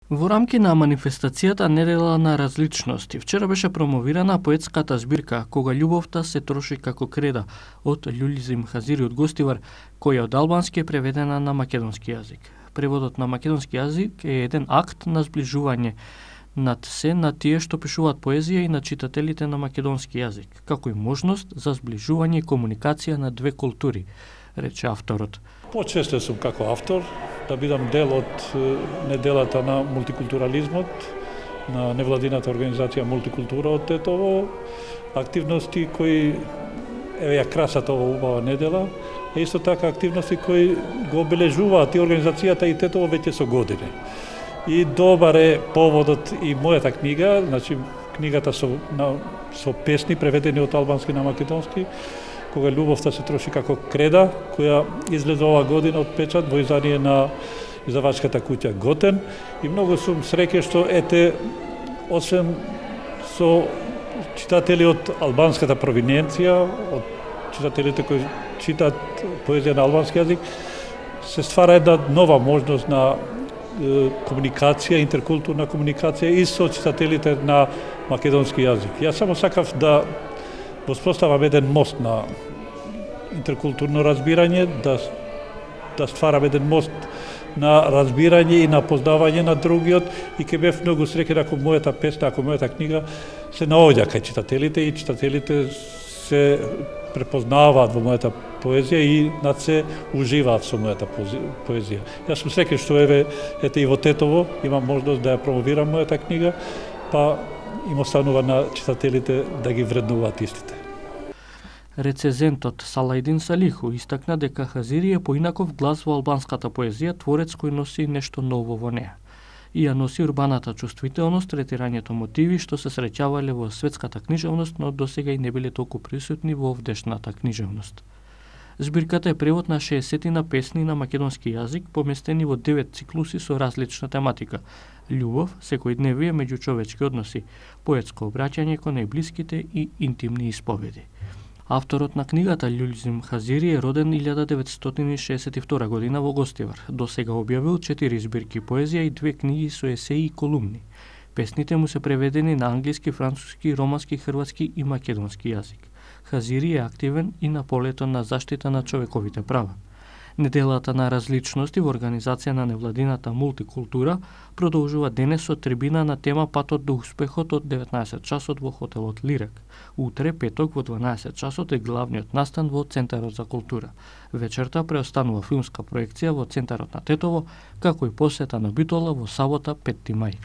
Во рамки на манифестацијата Недела на различности, вчера беше промовирана поетската збирка Кога љубовта се троши како креда од Љулизим Хазири од Гостивар, која од албански е преведена на македонски јазик. Преводот на македонски јазик е еден акт на зближување над се на тие што пишуваат поезија и на читателите на македонски јазик, како и можност за зближување и комуникација на две култури, рече авторот. Почесто сум како автор да бидам дел од неделата на мултикултурализмот, на невладината организација Мултикултура од Тетово, активности кои ја красат ова убава недела, а исто така активности кои го обележуваат и организацијата и Тетово веќе со години. И добар е поводот и мојата книга, значи книгата со песни преведени од албански на македонски, Кога љубовта се троши како креда, која излезе ова година од печат во издание на издавачката куќа Готен, и многу сум среќен што освен со читатели од албанската провиненција, од читателите кои читаат поезија на албански јазик, се ствара една нова можност на комуникација, интеркултурна комуникација и со читателите на македонски јазик. Јас само сакав да воспоставам еден мост на интеркултурно разбирање, да стварам еден мост на разбирање и на познавање на другиот, и ке бев многу среќен ако мојата песна, ако мојата книга се наоѓа кај читателите и читателите се препознаваат во мојата поезија и над се уживаат со мојата поезија. Јас сум среќен што ете и во Тетово имам можност да ја промовирам мојата книга, па им останува на читателите да ги вреднуваат истите. Рецезентот Салајдин Салиху истакна дека Хазири е поинаков глас во албанската поезија, творец кој носи нешто ново во неа. И ја носи урбаната чувствителност, третирањето мотиви што се среќавале во светската книжевност, но досега и не биле толку присутни во овдешната книжевност. Збирката е превод на 60 песни на македонски јазик, поместени во 9 циклуси со различна тематика: љубов, секојдневие, меѓучовечки односи, поетско обраќање кон најблиските и интимни исповеди. Авторот на книгата Љулизим Хазири е роден 1962 година во Гостивар. До сега објавил 4 збирки поезија и 2 книги со есеи и колумни. Песните му се преведени на англиски, француски, романски, хрватски и македонски јазик. Хазири е активен и на полето на заштита на човековите права. Неделата на различности во организација на невладината Мултикултура продолжува денес со трибина на тема Патот до успехот од 19 часот во хотелот Лирак. Утре, петок, во 12 часот е главниот настан во Центарот за култура. Вечерта преостанува филмска проекција во Центарот на Тетово, како и посета на Битола во сабота 5 мај.